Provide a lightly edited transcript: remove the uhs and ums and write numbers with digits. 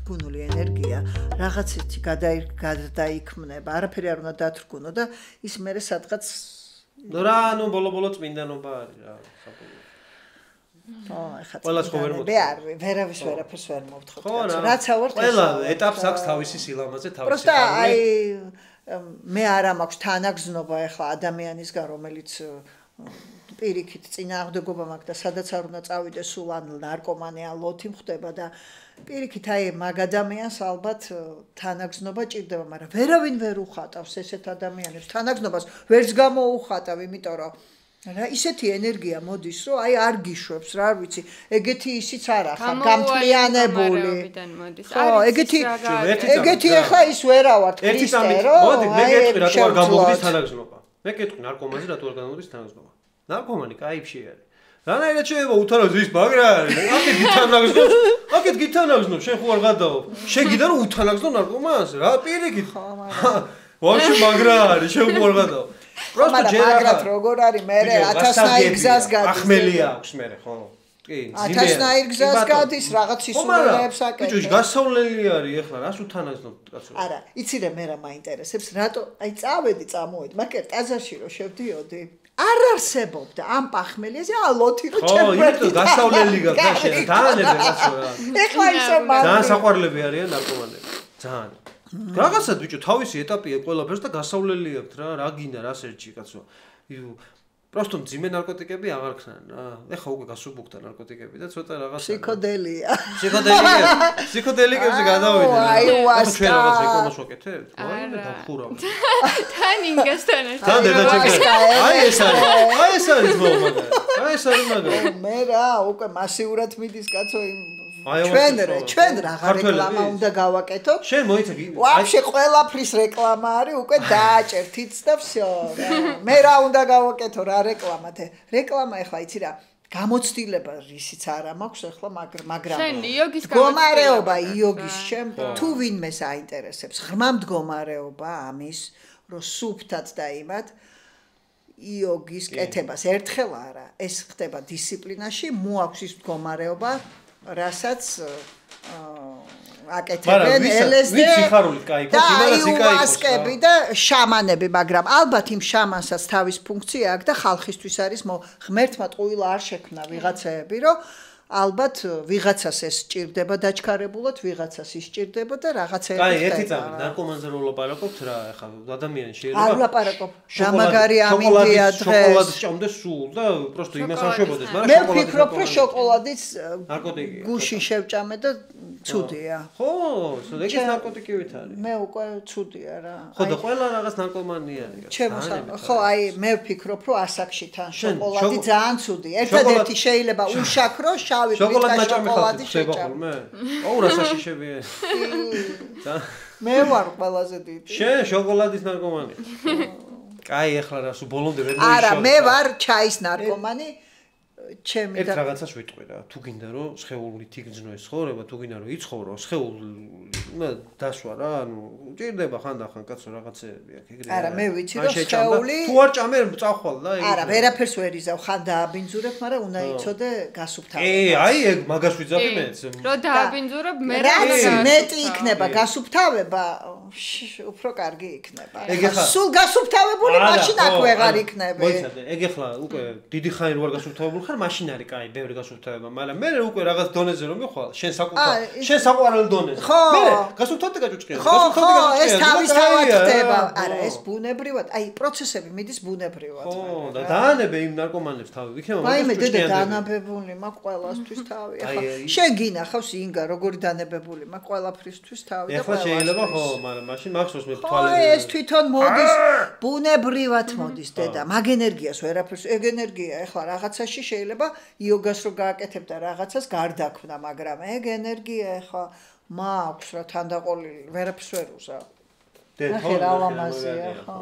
დათრგუნული ენერგია რაღაცეთი გადაიქმნება, არაფერი არ უნდა დათრგუნო და ის მერე სადღაც რა ნუ ბოლო-ბოლო წმინდანობა არის რა ყველას ხო ვერ მოთხოვ. ვერავის ვერაფერს ვერ მოვთხოვ. რაც ავარ ყველა ეტაპს აქვს თავისი სილამაზე, თავისი პროსტა მე არ მაქვს თანაგზნობა ახლა ადამიანისგან, რომელიც პირიქით წინააღმდეგობა მაქვს და სადაც არ უნდა წავიდე სულ ან ნარკომანი ან ლოთი მხდება და პირიქით მაგ ადამიანს ალბათ თანაგზნობა ჭირდება, მაგრამ ვერავინ ვერ უხატავს ესეთ ადამიანებს. თანაგზნობას ვერც გამოუხატავ, იმიტომ რომ რა ისეთი ენერგია მოდის, რომ არ გიშვებს, რა ვიცი, ეგეთი ისიც არ ახარ, გამთლიანებული. ხო, ეგეთი ახლა ის ვერა ვარ, ქრისტე, რომ მოდი, მე გეტყვი რატო არ გამოგდის თანაგზნობა. მე გეტყვი ნარკომანზე რატო არ გამოდის თანაგზნობა. ნარკომანი кайფში არის. რანაირად შეიძლება უთანაგზნო ის მაგრა არის. აკეთ გითანაგზნო, შენ ხო არ გადაო. შეგიდა რომ უთანაგზნო ნარკომანს, რა პირიქით. ვაში მაგრა არის, შენ ხო არ გადაო. პროსტო ჯერაგად როგორ არის მე 1000-ნაირ გზას გადის. ახმელია აქვს მე ხო. კი, 1000-ნაირ გზას გადის, რაღაც ისურვებს აკეთებს. ბიჭო, გასავლელი არის ახლა, რას უთანაგზნობ კაცო? არა, იცი რა მე რა მაინტერესებს, რატო წავედი, წამოვედი, მაგრამ ტაზაში რო შევდიოდი, არ არსებობდა ამ პახმელიაზე ალოთი რო ჩემ პროექტი გასავლელი გაქვს და შენ დაანებე კაცო რა. ეხლა ისე მაგ ძალიან საყვარლები არიან ნარკომანები. ძალიან. რაღაცა ბიჭო, თავისი ეტაპია ყველაფერს და გასავლელი აქვს რა, რა გინდა, რა სერჩი კაცო. პროსტო ძიმე ნარკოტიკები აღარ ხსნან რა. ეხა უკვე გასუბუქდა ნარკოტიკები და ცოტა რაღაცა ფსიქოდელია. ფსიქოდელიკებზე გადავიდე. აიუასკა. ჩვენ რაღაც რეკომას ვაკეთებთ? აი მე დავხურავ. თან ინგასთან ერთად. თან დედაჩემი. აი ეს არის მაგარი. მე რა, უკვე მასიურად მიდის კაცო იმ ჩვენ რაღა რეკლამა უნდა გავაკეთოთ. შენ მოიცადი. ვაფშე ყველაფრის რეკლამა არის, უკვე დააჭერთიც და всё. მე რა უნდა გავაკეთო რა რეკლამათ? რეკლამა ახლა იცი რა, გამოცდილება რისიც არა მაქვს ახლა, მაგრამ შენ იოგის მდგომარეობა იოგის თუ ვინმეს აინტერესებს, ღრმა მდგომარეობა ამის, რომ სუფთად დაიმად იოგის კეთებას ერთხელ არა, ეს ხდება დისციპლინაში, მოაქვს ის მდგომარეობა რასაც აკეთებენ LSD და აიუასკები და შამანები, მაგრამ ალბათ იმ შამანსაც თავის ფუნქცია აქვს და ხალხისთვის არის ღმერთმა ტყუილა არ შექმნა ვიღაცაები, რომ ალბათ ვიღაცას ეს სჭირდება დაჩქარებულად, ვიღაცას ის სჭირდება და რაღაცეები ხდება. აი, ერთი წამი ნარკომანზე რო ვლაპარაკობთ რა, ახლა ადამიანი შეიძლება არ ვლაპარაკობ. შამაგარი ამინდია დღეს. შოკოლადის ჭამდეს სულ და პროსტო იმას არ შევოდეს, მაგრამ მე ვფიქრობ, რომ შოკოლადის ნარკოტიკია. გუშინ შევჭამე და ცუდია. ხო, ეგეც ნარკოტიკივით არის. მე უკვე ცუდია რა. ხო და ყველა რაღაც ნარკომანი არის. ხო, აი მე ვფიქრობ, რომ ასაკში თან შოკოლადი ძალიან ცუდია. ერთადერთი შეიძლება უშაქრო შავი პლიტა შოკოლადი შეჭამე. აუ რა საშიშებია. მე ვარ ყველაზე დიდი. შენ შოკოლადის ნარკომანი. კაი, ახლა რა სულ ბოლომდე ვერ მოიშოვე. არა, მე ვარ ჩაის ნარკომანი. ჩემი და ერთ რაღაცას ვიტყვი რა, თუ გინდა რომ სხეულით იგრძნო ეს ცხოვრება, თუ გინდა რომ იცხოვრო, სხეული დასვა რა, ანუ ჭირდება ხანდახან კაცო რაღაცეები აქ ეგრე. არა, მე ვიცი რომ სხეული თუ არ ჭამე წახვალ და ეგ. არა, ვერაფერს ვერ იზავ, ხან დააბინძურებ, მაგრამ უნდა იცოდე გასუფთავება. აი ეგ მაგას ვიძახი მეც. რომ დააბინძურებ, მე რაც მეტი იქნება გასუფთავება, უფრო კარგი იქნება. სულ გასუფთავებული მაშინ აქ ვეღარ იქნები. მოიცადე, ეგ ახლა უკვე დიდი ხანი რო არ გასუფთავებული ხარ, მაშინ არის კაი, ბევრი გასუფთავება, მაგრამ მე უკვე რაღაც დონეზე რომ მიხვალ, შენ საყვარელ დონეზე. მე გასუფთავდი გაჭუჭყია. ხო, ეს თავისთავად ხდება. არა, ეს ბუნებრივად, აი პროცესები მიდის ბუნებრივად. ხო, და დაანებე იმ ნარკომანებს თავი. იქნება მაგას ვჭიანდება. აი მე დედა დაანებებული მაქვს ყველასთვის თავი. ახლა შენ გინახავს ინგა როგორი დაანებებული მაქვს ყველაფრისთვის თავი და ახლა შეიძლება ხო, მაგრამ მაშინ მახსოვს მე თვალები. ხო, ეს თვითონ მოდის ბუნებრივად მოდის დედა. მაგ ენერგიას ვერაფერს, ეგ ენერგია ახლა რაღაცაში შეიძლება იოგას რო გააკეთებ და რაღაცას გარდაქმნა, მაგრამ ეგ ენერგია ახლა მაქვს რა თანდაყოლილი, ვერაფერს ვერ უზავ. დედა, რა ლამაზია, ხო.